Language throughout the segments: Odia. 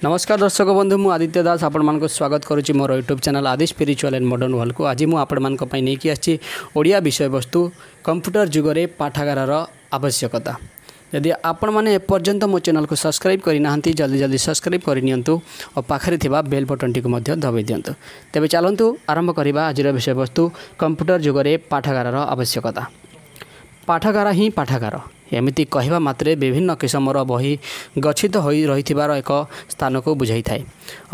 ନମସ୍କାର ଦର୍ଶକ ବନ୍ଧୁ, ମୁଁ ଆଦିତ୍ୟ ଦାସ ଆପଣମାନଙ୍କୁ ସ୍ୱାଗତ କରୁଛି ମୋର ୟୁଟ୍ୟୁବ୍ ଚ୍ୟାନେଲ୍ ଆଦି ସ୍ପିରିଚୁଆଲ୍ ଆଣ୍ଡ ମଡ଼ର୍ଣ୍ଣ ୱାର୍ଲଡ଼କୁ। ଆଜି ମୁଁ ଆପଣମାନଙ୍କ ପାଇଁ ନେଇକି ଆସିଛି ଓଡ଼ିଆ ବିଷୟବସ୍ତୁ, କମ୍ପ୍ୟୁଟର ଯୁଗରେ ପାଠାଗାରର ଆବଶ୍ୟକତା। ଯଦି ଆପଣମାନେ ଏପର୍ଯ୍ୟନ୍ତ ମୋ ଚ୍ୟାନେଲକୁ ସବସ୍କ୍ରାଇବ୍ କରିନାହାନ୍ତି, ଜଲ୍ଦି ଜଲ୍ଦି ସବସ୍କ୍ରାଇବ୍ କରିନିଅନ୍ତୁ ଓ ପାଖରେ ଥିବା ବେଲ୍ ବଟନ୍ଟିକୁ ମଧ୍ୟ ଦବାଇ ଦିଅନ୍ତୁ। ତେବେ ଚାଲନ୍ତୁ ଆରମ୍ଭ କରିବା ଆଜିର ବିଷୟବସ୍ତୁ, କମ୍ପ୍ୟୁଟର ଯୁଗରେ ପାଠାଗାରର ଆବଶ୍ୟକତା। ପାଠାଗାର ହିଁ ପାଠାଗାର, ଏମିତି କହିବା ମାତ୍ରେ ବିଭିନ୍ନ କିସମର ବହି ଗଚ୍ଛିତ ହୋଇ ରହିଥିବାର ଏକ ସ୍ଥାନକୁ ବୁଝାଇଥାଏ।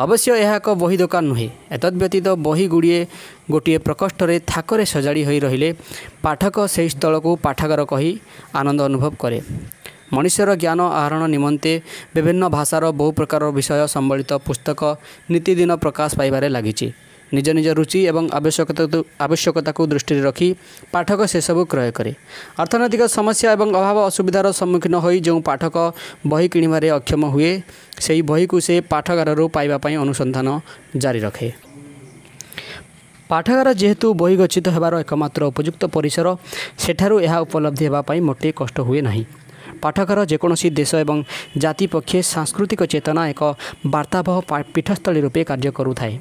ଅବଶ୍ୟ ଏହା ଏକ ବହି ଦୋକାନ ନୁହେଁ। ଏତଦ୍ ବ୍ୟତୀତ ବହି ଗୁଡ଼ିଏ ଗୋଟିଏ ପ୍ରକୋଷ୍ଠରେ ଥାକରେ ସଜାଡ଼ି ହୋଇ ରହିଲେ ପାଠକ ସେହି ସ୍ଥଳକୁ ପାଠାଗାର କହି ଆନନ୍ଦ ଅନୁଭବ କରେ। ମଣିଷର ଜ୍ଞାନ ଆହରଣ ନିମନ୍ତେ ବିଭିନ୍ନ ଭାଷାର ବହୁ ପ୍ରକାର ବିଷୟ ସମ୍ବଳିତ ପୁସ୍ତକ ନିତିଦିନ ପ୍ରକାଶ ପାଇବାରେ ଲାଗିଛି। ନିଜ ନିଜ ରୁଚି ଏବଂ ଆବଶ୍ୟକତାକୁ ଦୃଷ୍ଟିରେ ରଖି ପାଠକ ସେସବୁ କ୍ରୟ କରେ। ଅର୍ଥନୈତିକ ସମସ୍ୟା ଏବଂ ଅଭାବ ଅସୁବିଧାର ସମ୍ମୁଖୀନ ହୋଇ ଯେଉଁ ପାଠକ ବହି କିଣିବାରେ ଅକ୍ଷମ ହୁଏ, ସେହି ବହିକୁ ସେ ପାଠାଗାରରୁ ପାଇବା ପାଇଁ ଅନୁସନ୍ଧାନ ଜାରି ରଖେ। ପାଠାଗାର ଯେହେତୁ ବହି ଗଚ୍ଛିତ ହେବାର ଏକମାତ୍ର ଉପଯୁକ୍ତ ପରିସର, ସେଠାରୁ ଏହା ଉପଲବ୍ଧି ହେବା ପାଇଁ ମୋଟେ କଷ୍ଟ ହୁଏ ନାହିଁ। ପାଠାଗାର ଯେକୌଣସି ଦେଶ ଏବଂ ଜାତି ପକ୍ଷେ ସାଂସ୍କୃତିକ ଚେତନା ଏକ ବାର୍ତ୍ତାବହ ପୀଠସ୍ଥଳୀ ରୂପେ କାର୍ଯ୍ୟ କରୁଥାଏ।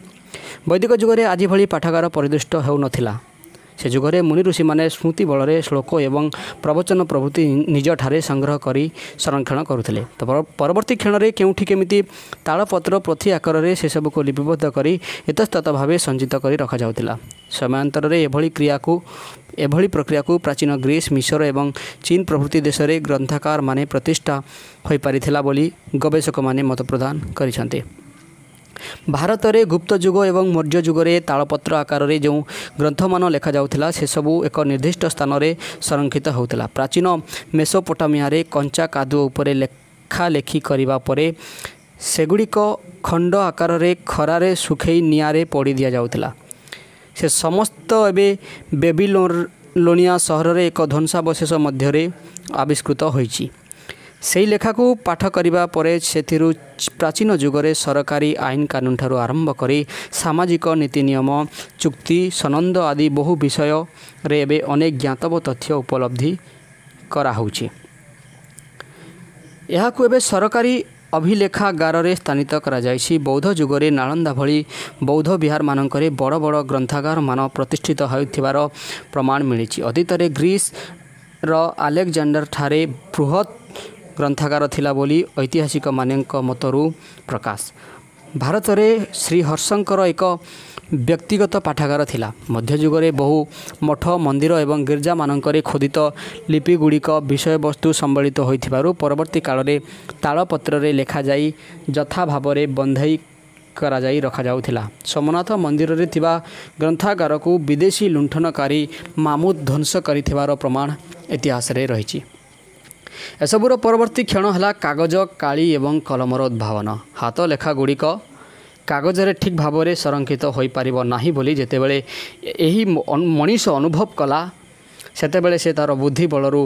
ବୈଦିକ ଯୁଗରେ ଆଜି ଭଳି ପାଠାଗାର ପରିଦୃଷ୍ଟ ହେଉନଥିଲା। ସେ ଯୁଗରେ ମୁନି ଋଷିମାନେ ସ୍ମୃତି ବଳରେ ଶ୍ଲୋକ ଏବଂ ପ୍ରବଚନ ପ୍ରଭୃତି ନିଜଠାରେ ସଂଗ୍ରହ କରି ସଂରକ୍ଷଣ କରୁଥିଲେ। ତ ପରବର୍ତ୍ତୀ କ୍ଷଣରେ କେଉଁଠି କେମିତି ତାଳପତ୍ର ପୋଥି ଆକାରରେ ସେସବୁକୁ ଲିପିବଦ୍ଧ କରି ଇତସ୍ତତଃ ଭାବେ ସଞ୍ଚିତ କରି ରଖାଯାଉଥିଲା। ସମୟାନ୍ତରରେ ଏଭଳି ପ୍ରକ୍ରିୟାକୁ ପ୍ରାଚୀନ ଗ୍ରୀସ୍, ମିଶର ଏବଂ ଚୀନ ପ୍ରଭୃତି ଦେଶରେ ଗ୍ରନ୍ଥାଗାରମାନେ ପ୍ରତିଷ୍ଠା ହୋଇପାରିଥିଲା ବୋଲି ଗବେଷକମାନେ ମତ ପ୍ରଦାନ କରିଛନ୍ତି। ଭାରତରେ ଗୁପ୍ତ ଯୁଗ ଏବଂ ମୌର୍ଯ୍ୟ ଯୁଗରେ ତାଳପତ୍ର ଆକାରରେ ଯେଉଁ ଗ୍ରନ୍ଥମାନ ଲେଖାଯାଉଥିଲା, ସେସବୁ ଏକ ନିର୍ଦ୍ଦିଷ୍ଟ ସ୍ଥାନରେ ସଂରକ୍ଷିତ ହେଉଥିଲା। ପ୍ରାଚୀନ ମେସୋପୋଟାମିଆରେ କଞ୍ଚା କାଦୁଅ ଉପରେ ଲେଖାଲେଖି କରିବା ପରେ ସେଗୁଡ଼ିକ ଖଣ୍ଡ ଆକାରରେ ଖରାରେ ଶୁଖେଇ ନିଆଁରେ ପୋଡ଼ି ଦିଆଯାଉଥିଲା। ସେ ସମସ୍ତ ଏବେ ବେବିଲୋନିଆ ସହରରେ ଏକ ଧ୍ୱଂସାବଶେଷ ମଧ୍ୟରେ ଆବିଷ୍କୃତ ହୋଇଛି। ସେହି ଲେଖାକୁ ପାଠ କରିବା ପରେ ସେଥିରୁ ପ୍ରାଚୀନ ଯୁଗରେ ସରକାରୀ ଆଇନ କାନୁନଠାରୁ ଆରମ୍ଭ କରି ସାମାଜିକ ନୀତି ନିୟମ, ଚୁକ୍ତି ସନନ୍ଦ ଆଦି ବହୁ ବିଷୟରେ ଏବେ ଅନେକ ଜ୍ଞାତବ୍ୟ ତଥ୍ୟ ଉପଲବ୍ଧି କରାହେଉଛି। ଏହାକୁ ଏବେ ସରକାରୀ ଅଭିଲେଖାଗାରରେ ସ୍ଥାନିତ କରାଯାଇଛି। ବୌଦ୍ଧ ଯୁଗରେ ନାଳନ୍ଦା ଭଳି ବୌଦ୍ଧ ବିହାରମାନଙ୍କରେ ବଡ଼ ବଡ଼ ଗ୍ରନ୍ଥାଗାରମାନ ପ୍ରତିଷ୍ଠିତ ହେଉଥିବାର ପ୍ରମାଣ ମିଳିଛି। ଅତୀତରେ ଗ୍ରୀସର ଆଲେକଜାଣ୍ଡାରଠାରେ ବୃହତ୍ ଗ୍ରନ୍ଥାଗାର ଥିଲା ବୋଲି ଐତିହାସିକମାନଙ୍କ ମତରୁ ପ୍ରକାଶ। ଭାରତରେ ଶ୍ରୀହର୍ଷଙ୍କର ଏକ ବ୍ୟକ୍ତିଗତ ପାଠାଗାର ଥିଲା। ମଧ୍ୟଯୁଗରେ ବହୁ ମଠ, ମନ୍ଦିର ଏବଂ ଗିର୍ଜାମାନଙ୍କରେ ଖୋଦିତ ଲିପିଗୁଡ଼ିକ ବିଷୟବସ୍ତୁ ସମ୍ବଳିତ ହୋଇଥିବାରୁ ପରବର୍ତ୍ତୀ କାଳରେ ତାଳପତ୍ରରେ ଲେଖାଯାଇ ଯଥାଭାବରେ ବନ୍ଧେଇ କରାଯାଇ ରଖାଯାଉଥିଲା। ସୋମନାଥ ମନ୍ଦିରରେ ଥିବା ଗ୍ରନ୍ଥାଗାରକୁ ବିଦେଶୀ ଲୁଣ୍ଠନକାରୀ ମାମୁଦ ଧ୍ୱଂସ କରିଥିବାର ପ୍ରମାଣ ଇତିହାସରେ ରହିଛି। ଏସବୁର ପରବର୍ତ୍ତୀ କ୍ଷଣ ହେଲା କାଗଜ, କାଳି ଏବଂ କଲମର ଉଦ୍ଭାବନ। ହାତ ଲେଖାଗୁଡ଼ିକ କାଗଜରେ ଠିକ୍ ଭାବରେ ସଂରକ୍ଷିତ ହୋଇପାରିବ ନାହିଁ ବୋଲି ଯେତେବେଳେ ଏହି ମଣିଷ ଅନୁଭବ କଲା, ସେତେବେଳେ ସେ ତା'ର ବୁଦ୍ଧି ବଳରୁ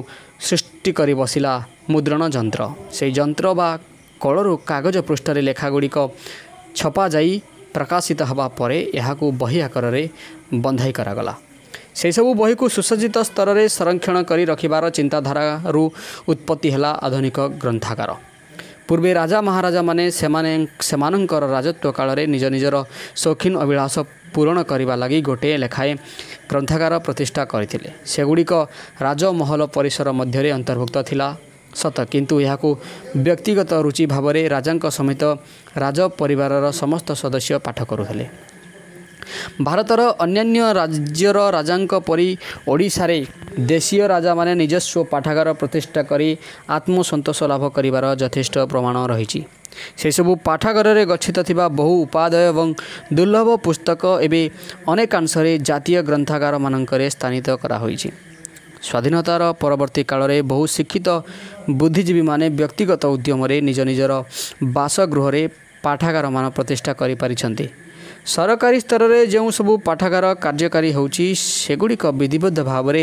ସୃଷ୍ଟି କରି ବସିଲା ମୁଦ୍ରଣ ଯନ୍ତ୍ର। ସେହି ଯନ୍ତ୍ର ବା କଳରୁ କାଗଜ ପୃଷ୍ଠରେ ଲେଖାଗୁଡ଼ିକ ଛପାଯାଇ ପ୍ରକାଶିତ ହେବା ପରେ ଏହାକୁ ବହି ଆକାରରେ ବନ୍ଧାଇ କରାଗଲା। ସେହିସବୁ ବହିକୁ ସୁସଜ୍ଜିତ ସ୍ତରରେ ସଂରକ୍ଷଣ କରି ରଖିବାର ଚିନ୍ତାଧାରାରୁ ଉତ୍ପତ୍ତି ହେଲା ଆଧୁନିକ ଗ୍ରନ୍ଥାଗାର। ପୂର୍ବେ ରାଜା ମହାରାଜାମାନେ ସେମାନେ ସେମାନଙ୍କର ରାଜତ୍ୱ କାଳରେ ନିଜ ନିଜର ସୌଖିନ ଅଭିଳାଷ ପୂରଣ କରିବା ଲାଗି ଗୋଟିଏ ଲେଖାଏଁ ଗ୍ରନ୍ଥାଗାର ପ୍ରତିଷ୍ଠା କରିଥିଲେ। ସେଗୁଡ଼ିକ ରାଜମହଲ ପରିସର ମଧ୍ୟରେ ଅନ୍ତର୍ଭୁକ୍ତ ଥିଲା ସତ, କିନ୍ତୁ ଏହାକୁ ବ୍ୟକ୍ତିଗତ ରୁଚି ଭାବରେ ରାଜାଙ୍କ ସମେତ ରାଜ ପରିବାରର ସମସ୍ତ ସଦସ୍ୟ ପାଠ କରୁଥିଲେ। ଭାରତର ଅନ୍ୟାନ୍ୟ ରାଜ୍ୟର ରାଜାଙ୍କ ପରି ଓଡ଼ିଶାରେ ଦେଶୀୟ ରାଜାମାନେ ନିଜସ୍ୱ ପାଠାଗାର ପ୍ରତିଷ୍ଠା କରି ଆତ୍ମସନ୍ତୋଷ ଲାଭ କରିବାର ଯଥେଷ୍ଟ ପ୍ରମାଣ ରହିଛି। ସେସବୁ ପାଠାଗାରରେ ଗଚ୍ଛିତ ଥିବା ବହୁ ଉପାଦେୟ ଏବଂ ଦୁର୍ଲଭ ପୁସ୍ତକ ଏବେ ଅନେକାଂଶରେ ଜାତୀୟ ଗ୍ରନ୍ଥାଗାରମାନଙ୍କରେ ସ୍ଥାନିତ କରାହୋଇଛି। ସ୍ୱାଧୀନତାର ପରବର୍ତ୍ତୀ କାଳରେ ବହୁ ଶିକ୍ଷିତ ବୁଦ୍ଧିଜୀବୀମାନେ ବ୍ୟକ୍ତିଗତ ଉଦ୍ୟମରେ ନିଜ ନିଜର ବାସଗୃହରେ ପାଠାଗାରମାନ ପ୍ରତିଷ୍ଠା କରିପାରିଛନ୍ତି। ସରକାରୀ ସ୍ତରରେ ଯେଉଁ ସବୁ ପାଠାଗାର କାର୍ଯ୍ୟକାରୀ ହେଉଛି, ସେଗୁଡ଼ିକ ବିଧିବଦ୍ଧ ଭାବରେ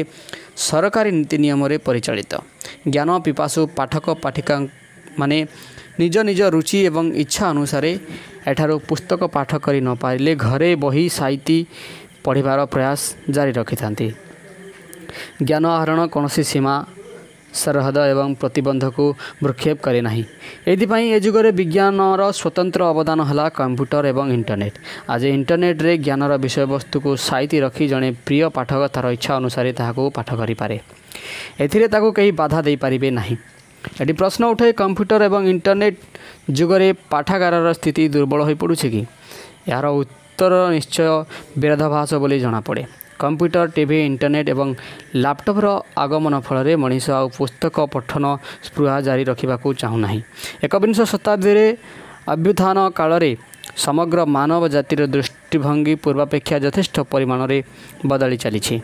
ସରକାରୀ ନୀତି ନିୟମରେ ପରିଚାଳିତ। ଜ୍ଞାନ ପିପାସୁ ପାଠକ ପାଠିକାମାନେ ନିଜ ନିଜ ରୁଚି ଏବଂ ଇଚ୍ଛା ଅନୁସାରେ ଏଠାରୁ ପୁସ୍ତକ ପାଠ କରି ନପାରିଲେ ଘରେ ବହି ସାଇତି ପଢ଼ିବାର ପ୍ରୟାସ ଜାରି ରଖିଥାନ୍ତି। ଜ୍ଞାନ ଆହରଣ କୌଣସି ସୀମା ସରହଦ ଏବଂ ପ୍ରତିବନ୍ଧକୁ ଭ୍ରୂକ୍ଷେପ କରେ ନାହିଁ। ଏଥିପାଇଁ ଏ ଯୁଗରେ ବିଜ୍ଞାନର ସ୍ୱତନ୍ତ୍ର ଅବଦାନ ହେଲା କମ୍ପ୍ୟୁଟର ଏବଂ ଇଣ୍ଟରନେଟ୍। ଆଜି ଇଣ୍ଟରନେଟ୍ରେ ଜ୍ଞାନର ବିଷୟବସ୍ତୁକୁ ସାଇତି ରଖି ଜଣେ ପ୍ରିୟ ପାଠକ ତା'ର ଇଚ୍ଛା ଅନୁସାରେ ତାହାକୁ ପାଠ କରିପାରେ। ଏଥିରେ ତାକୁ କେହି ବାଧା ଦେଇପାରିବେ ନାହିଁ। ଏଠି ପ୍ରଶ୍ନ ଉଠେ, କମ୍ପ୍ୟୁଟର ଏବଂ ଇଣ୍ଟରନେଟ୍ ଯୁଗରେ ପାଠାଗାରର ସ୍ଥିତି ଦୁର୍ବଳ ହୋଇପଡ଼ୁଛି କି? ଏହାର ଉତ୍ତର ନିଶ୍ଚୟ ବିରୋଧାଭାସ ବୋଲି ଜଣାପଡ଼େ। କମ୍ପ୍ୟୁଟର, ଟିଭି, ଇଣ୍ଟରନେଟ୍ ଏବଂ ଲାପଟପ୍ର ଆଗମନ ଫଳରେ ମଣିଷ ଆଉ ପୁସ୍ତକ ପଠନ ସ୍ପୃହା ଜାରି ରଖିବାକୁ ଚାହୁଁନାହିଁ। ଏକବିଂଶ ଶତାବ୍ଦୀରେ ଅଭ୍ୟୁତ୍ଥାନ କାଳରେ ସମଗ୍ର ମାନବ ଜାତିର ଦୃଷ୍ଟିଭଙ୍ଗୀ ପୂର୍ବାପେକ୍ଷା ଯଥେଷ୍ଟ ପରିମାଣରେ ବଦଳି ଚାଲିଛି।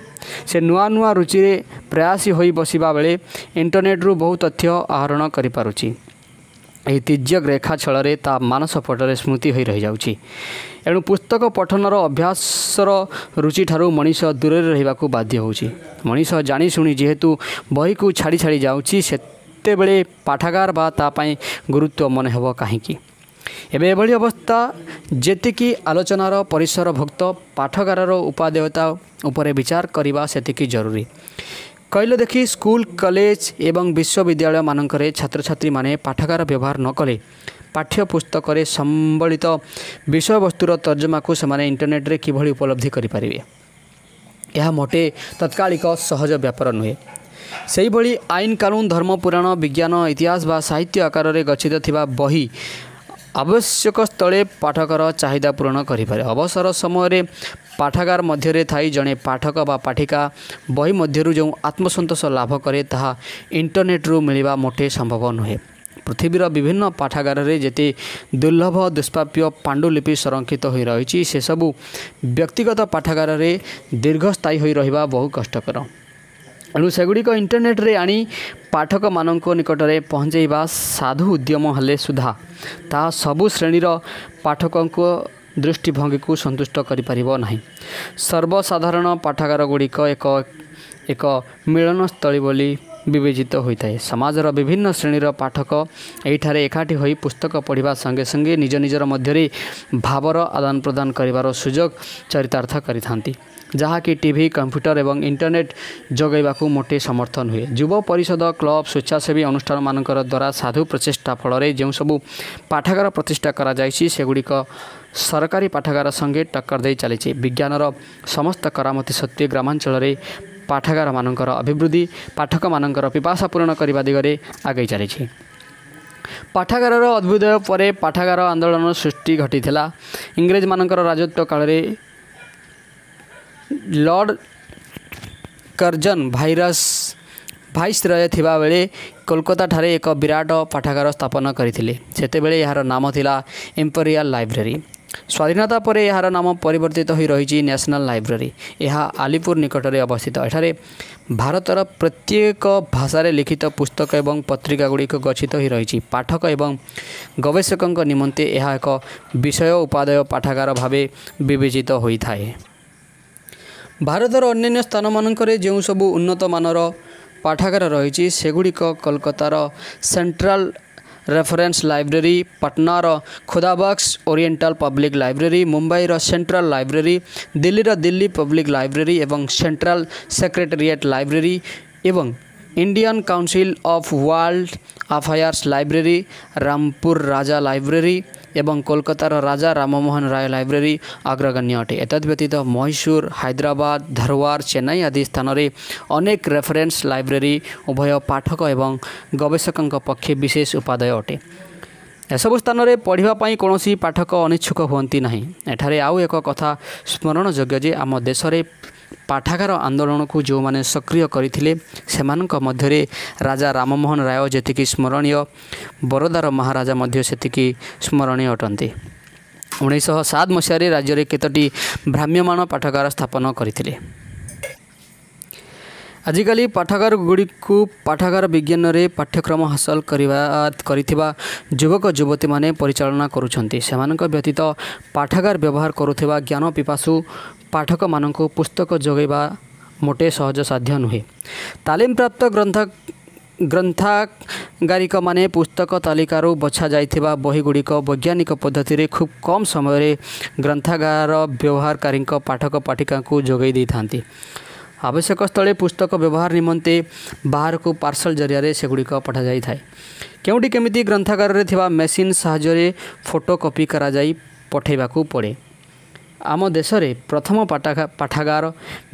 ସେ ନୂଆ ନୂଆ ରୁଚିରେ ପ୍ରୟାସୀ ହୋଇ ବସିବା ବେଳେ ଇଣ୍ଟରନେଟ୍ରୁ ବହୁ ତଥ୍ୟ ଆହରଣ କରିପାରୁଛି। ଏହି ତୀର୍ଯ୍ୟକ ରେଖା ଛଳରେ ତା ମାନସପଟରେ ସ୍ମୃତି ହୋଇ ରହିଯାଉଛି। ଏଣୁ ପୁସ୍ତକ ପଠନର ଅଭ୍ୟାସର ରୁଚିଠାରୁ ମଣିଷ ଦୂରରେ ରହିବାକୁ ବାଧ୍ୟ ହେଉଛି। ମଣିଷ ଜାଣିଶୁଣି ଯେହେତୁ ବହିକୁ ଛାଡ଼ି ଛାଡ଼ି ଯାଉଛି, ସେତେବେଳେ ପାଠାଗାର ବା ତା ପାଇଁ ଗୁରୁତ୍ୱ ମନେ ହେବ କାହିଁକି? ଏବେ ଏଭଳି ଅବସ୍ଥା ଯେତିକି ଆଲୋଚନାର ପରିସରଭୁକ୍ତ, ପାଠାଗାରର ଉପାଦେୟତା ଉପରେ ବିଚାର କରିବା ସେତିକି ଜରୁରୀ। କହିଲେ ଦେଖି, ସ୍କୁଲ, କଲେଜ ଏବଂ ବିଶ୍ୱବିଦ୍ୟାଳୟମାନଙ୍କରେ ଛାତ୍ରଛାତ୍ରୀମାନେ ପାଠାଗାର ବ୍ୟବହାର ନ କଲେ ପାଠ୍ୟପୁସ୍ତକରେ ସମ୍ବଳିତ ବିଷୟବସ୍ତୁର ତର୍ଜମାକୁ ସେମାନେ ଇଣ୍ଟରନେଟ୍ରେ କିଭଳି ଉପଲବ୍ଧି କରିପାରିବେ? ଏହା ମୋଟେ ତତ୍କାଳିକ ସହଜ ବ୍ୟାପାର ନୁହେଁ। ସେହିଭଳି ଆଇନ କାନୁନ, ଧର୍ମ, ପୁରାଣ, ବିଜ୍ଞାନ, ଇତିହାସ ବା ସାହିତ୍ୟ ଆକାରରେ ଗଚ୍ଛିତ ଥିବା ବହି ଆବଶ୍ୟକ ସ୍ଥଳେ ପାଠକର ଚାହିଦା ପୂରଣ କରିପାରେ। ଅବସର ସମୟରେ ପାଠାଗାର ମଧ୍ୟରେ ଥାଇ ଜଣେ ପାଠକ ବା ପାଠିକା ବହି ମଧ୍ୟରୁ ଯେଉଁ ଆତ୍ମସନ୍ତୋଷ ଲାଭ କରେ, ତାହା ଇଣ୍ଟରନେଟ୍ରୁ ମିଳିବା ମୋଟେ ସମ୍ଭବ ନୁହେଁ। ପୃଥିବୀର ବିଭିନ୍ନ ପାଠାଗାରରେ ଯେତେ ଦୁର୍ଲଭ ଦୁଷ୍ପ୍ରାପ୍ୟ ପାଣ୍ଡୁଲିପି ସଂରକ୍ଷିତ ହୋଇ ରହିଛି, ସେସବୁ ବ୍ୟକ୍ତିଗତ ପାଠାଗାରରେ ଦୀର୍ଘସ୍ଥାୟୀ ହୋଇ ରହିବା ବହୁ କଷ୍ଟକର। ଏଣୁ ସେଗୁଡ଼ିକ ଇଣ୍ଟରନେଟ୍ରେ ଆଣି ପାଠକମାନଙ୍କ ନିକଟରେ ପହଞ୍ଚାଇବା ସାଧୁ ଉଦ୍ୟମ ହେଲେ ସୁଦ୍ଧା ତାହା ସବୁ ଶ୍ରେଣୀର ପାଠକଙ୍କ ଦୃଷ୍ଟିଭଙ୍ଗୀକୁ ସନ୍ତୁଷ୍ଟ କରିପାରିବ ନାହିଁ। ସର୍ବସାଧାରଣ ପାଠାଗାରଗୁଡ଼ିକ ଏକ ଏକ ମିଳନସ୍ଥଳୀ ବୋଲି ବିବେଚିତ ହୋଇଥାଏ। ସମାଜର ବିଭିନ୍ନ ଶ୍ରେଣୀର ପାଠକ ଏହିଠାରେ ଏକାଠି ହୋଇ ପୁସ୍ତକ ପଢ଼ିବା ସଙ୍ଗେ ସଙ୍ଗେ ନିଜ ନିଜର ମଧ୍ୟରେ ଭାବର ଆଦାନ ପ୍ରଦାନ କରିବାର ସୁଯୋଗ ଚରିତାର୍ଥ କରିଥାନ୍ତି, ଯାହାକି ଟିଭି, କମ୍ପ୍ୟୁଟର ଏବଂ ଇଣ୍ଟରନେଟ୍ ଯୋଗାଇବାକୁ ମୋଟେ ସମର୍ଥ ନୁହେଁ। ଯୁବ ପରିଷଦ, କ୍ଲବ, ସ୍ୱେଚ୍ଛାସେବୀ ଅନୁଷ୍ଠାନମାନଙ୍କର ଦ୍ୱାରା ସାଧୁ ପ୍ରଚେଷ୍ଟା ଫଳରେ ଯେଉଁ ସବୁ ପାଠାଗାର ପ୍ରତିଷ୍ଠା କରାଯାଇଛି, ସେଗୁଡ଼ିକ ସରକାରୀ ପାଠାଗାର ସଙ୍ଗେ ଟକ୍କର ଦେଇ ଚାଲିଛି। ବିଜ୍ଞାନର ସମସ୍ତ କରାମତି ସତ୍ତ୍ୱେ ଗ୍ରାମାଞ୍ଚଳରେ ପାଠାଗାରମାନଙ୍କର ଅଭିବୃଦ୍ଧି ପାଠକମାନଙ୍କର ପିପାସା ପୂରଣ କରିବା ଦିଗରେ ଆଗେଇ ଚାଲିଛି। ପାଠାଗାରର ଅଭ୍ୟୁଦୟ ପରେ ପାଠାଗାର ଆନ୍ଦୋଳନ ସୃଷ୍ଟି ଘଟିଥିଲା। ଇଂରେଜମାନଙ୍କର ରାଜତ୍ୱ କାଳରେ ଲର୍ଡ଼ କର୍ଜନ ଭାଇସରୟ ଥିବାବେଳେ କୋଲକାତାଠାରେ ଏକ ବିରାଟ ପାଠାଗାର ସ୍ଥାପନ କରିଥିଲେ। ସେତେବେଳେ ଏହାର ନାମ ଥିଲା ଇମ୍ପେରିଆଲ ଲାଇବ୍ରେରୀ। ସ୍ୱାଧୀନତା ପରେ ଏହାର ନାମ ପରିବର୍ତ୍ତିତ ହୋଇ ରହିଛି ନ୍ୟାସନାଲ୍ ଲାଇବ୍ରେରୀ। ଏହା ଆଲିପୁର ନିକଟରେ ଅବସ୍ଥିତ। ଏଠାରେ ଭାରତର ପ୍ରତ୍ୟେକ ଭାଷାରେ ଲିଖିତ ପୁସ୍ତକ ଏବଂ ପତ୍ରିକା ଗୁଡ଼ିକ ଗଚ୍ଛିତ ହୋଇ ରହିଛି। ପାଠକ ଏବଂ ଗବେଷକଙ୍କ ନିମନ୍ତେ ଏହା ଏକ ବିଷୟ ଉପାଦେୟ ପାଠାଗାର ଭାବେ ବିବେଚିତ ହୋଇଥାଏ। ଭାରତର ଅନ୍ୟାନ୍ୟ ସ୍ଥାନମାନଙ୍କରେ ଯେଉଁ ସବୁ ଉନ୍ନତମାନର ପାଠାଗାର ରହିଛି, ସେଗୁଡ଼ିକ କୋଲକାତାର ସେଣ୍ଟ୍ରାଲ ରେଫରେନ୍ସ ଲାଇବ୍ରେରୀ, ପାଟନାର ଖୁଦାବକ୍ସ ଓରିଏଣ୍ଟାଲ ପବ୍ଲିକ୍ ଲାଇବ୍ରେରୀ, ମୁମ୍ବାଇର ସେଣ୍ଟ୍ରାଲ ଲାଇବ୍ରେରୀ, ଦିଲ୍ଲୀର ଦିଲ୍ଲୀ ପବ୍ଲିକ୍ ଲାଇବ୍ରେରୀ ଏବଂ ସେଣ୍ଟ୍ରାଲ ସେକ୍ରେଟେରିଏଟ୍ ଲାଇବ୍ରେରୀ ଏବଂ Indian council of world affairs library, Rampur Raja library ଏବଂ କୋଲକାତାର ରାଜା ରାମମୋହନ ରାୟ ଲାଇବ୍ରେରୀ ଅଗ୍ରଗଣ୍ୟ ଅଟେ। ଏତଦ୍ ବ୍ୟତୀତ ମହୀଶୂର, ହାଇଦ୍ରାବାଦ, ଧାରୱାର, ଚେନ୍ନାଇ ଆଦି ସ୍ଥାନରେ ଅନେକ ରେଫରେନ୍ସ ଲାଇବ୍ରେରୀ ଉଭୟ ପାଠକ ଏବଂ ଗବେଷକଙ୍କ ପକ୍ଷେ ବିଶେଷ ଉପାଦେୟ ଅଟେ। ଏସବୁ ସ୍ଥାନରେ ପଢ଼ିବା ପାଇଁ କୌଣସି ପାଠକ ଅନିଚ୍ଛୁକ ହୁଅନ୍ତି ନାହିଁ। ଏଠାରେ ଆଉ ଏକ କଥା ସ୍ମରଣଯୋଗ୍ୟ ଯେ ଆମ ଦେଶରେ ପାଠାଗାର ଆନ୍ଦୋଳନକୁ ଯେଉଁମାନେ ସକ୍ରିୟ କରିଥିଲେ, ସେମାନଙ୍କ ମଧ୍ୟରେ ରାଜା ରାମମୋହନ ରାୟ ଯେତିକି ସ୍ମରଣୀୟ, ବରୋଦାର ମହାରାଜା ମଧ୍ୟ ସେତିକି ସ୍ମରଣୀୟ ଅଟନ୍ତି। 1907 ମସିହାରେ ରାଜ୍ୟରେ କେତୋଟି ଭ୍ରାମ୍ୟମାଣ ପାଠାଗାର ସ୍ଥାପନ କରିଥିଲେ। ଆଜିକାଲି ପାଠାଗାର ଗୁଡ଼ିକୁ ପାଠାଗାର ବିଜ୍ଞାନରେ ପାଠ୍ୟକ୍ରମ ହାସଲ କରିଥିବା ଯୁବକ ଯୁବତୀମାନେ ପରିଚାଳନା କରୁଛନ୍ତି। ସେମାନଙ୍କ ବ୍ୟତୀତ ପାଠାଗାର ବ୍ୟବହାର କରୁଥିବା ଜ୍ଞାନ ପିପାସୁ ପାଠକମାନଙ୍କୁ ପୁସ୍ତକ ଯୋଗାଇବା ମୋଟେ ସହଜସାଧ୍ୟ ନୁହେଁ। ତାଲିମପ୍ରାପ୍ତ ଗ୍ରନ୍ଥାଗାରିକମାନେ ପୁସ୍ତକ ତାଲିକାରୁ ବଛା ଯାଇଥିବା ବହିଗୁଡ଼ିକ ବୈଜ୍ଞାନିକ ପଦ୍ଧତିରେ ଖୁବ୍ କମ୍ ସମୟରେ ଗ୍ରନ୍ଥାଗାର ବ୍ୟବହାରକାରୀଙ୍କ ପାଠକ ପାଠିକାଙ୍କୁ ଯୋଗାଇ ଦେଇଥାନ୍ତି। ଆବଶ୍ୟକ ସ୍ଥଳେ ପୁସ୍ତକ ବ୍ୟବହାର ନିମନ୍ତେ ବାହାରକୁ ପାର୍ସଲ ଜରିଆରେ ସେଗୁଡ଼ିକ ପଠାଯାଇଥାଏ। କେଉଁଠି କେମିତି ଗ୍ରନ୍ଥାଗାରରେ ଥିବା ମେସିନ୍ ସାହାଯ୍ୟରେ ଫଟୋ କପି କରାଯାଇ ପଠାଇବାକୁ ପଡ଼େ। ଆମ ଦେଶରେ ପ୍ରଥମ ପାଠାଗାର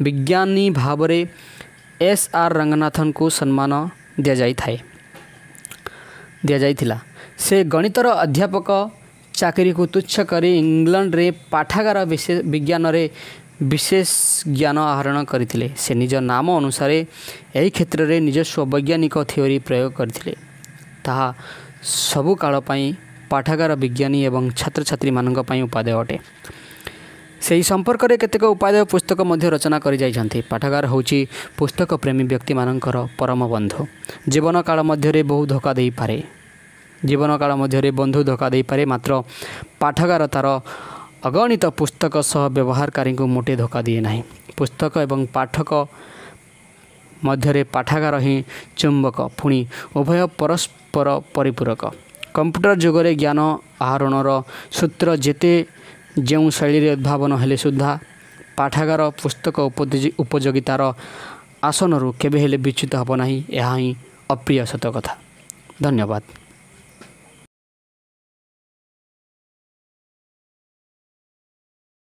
ବିଜ୍ଞାନୀ ଭାବରେ ଏସ୍ ଆର୍ ରଙ୍ଗନାଥନଙ୍କୁ ସମ୍ମାନ ଦିଆଯାଇଥିଲା। ସେ ଗଣିତର ଅଧ୍ୟାପକ ଚାକିରିକୁ ତୁଚ୍ଛ କରି ଇଂଲଣ୍ଡରେ ପାଠାଗାର ବିଜ୍ଞାନରେ ବିଶେଷ ଜ୍ଞାନ ଆହରଣ କରିଥିଲେ। ସେ ନିଜ ନାମ ଅନୁସାରେ ଏହି କ୍ଷେତ୍ରରେ ନିଜସ୍ୱ ବୈଜ୍ଞାନିକ ଥିଓରି ପ୍ରୟୋଗ କରିଥିଲେ। ତାହା ସବୁ କାଳ ପାଇଁ ପାଠାଗାର ବିଜ୍ଞାନୀ ଏବଂ ଛାତ୍ରଛାତ୍ରୀମାନଙ୍କ ପାଇଁ ଉପାଦେୟ ଅଟେ। ସେହି ସମ୍ପର୍କରେ କେତେକ ଉପାଦେୟ ପୁସ୍ତକ ମଧ୍ୟ ରଚନା କରିଯାଇଛନ୍ତି। ପାଠାଗାର ହେଉଛି ପୁସ୍ତକ ପ୍ରେମୀ ବ୍ୟକ୍ତିମାନଙ୍କର ପରମ ବନ୍ଧୁ। ଜୀବନକାଳ ମଧ୍ୟରେ ବହୁ ଧୋକା ଦେଇପାରେ, ଜୀବନକାଳ ମଧ୍ୟରେ ବନ୍ଧୁ ଧୋକା ଦେଇପାରେ, ମାତ୍ର ପାଠାଗାର ତା'ର ଅଗଣିତ ପୁସ୍ତକ ସହ ବ୍ୟବହାରକାରୀଙ୍କୁ ମୋଟେ ଧୋକା ଦିଏ ନାହିଁ। ପୁସ୍ତକ ଏବଂ ପାଠକ ମଧ୍ୟରେ ପାଠାଗାର ହିଁ ଚୁମ୍ବକ, ପୁଣି ଉଭୟ ପରସ୍ପର ପରିପୂରକ। କମ୍ପ୍ୟୁଟର ଯୁଗରେ ଜ୍ଞାନ ଆହରଣର ସୂତ୍ର ଯେତେ ଯେଉଁ ଶୈଳୀରେ ଉଦ୍ଭାବନ ହେଲେ ସୁଦ୍ଧା ପାଠାଗାର ପୁସ୍ତକ ଉପଯୋଗିତାର ଆସନରୁ କେବେ ହେଲେ ବିଚ୍ୟୁତ ହେବ ନାହିଁ। ଏହା ହିଁ ଅପ୍ରିୟ ସତ କଥା। ଧନ୍ୟବାଦ।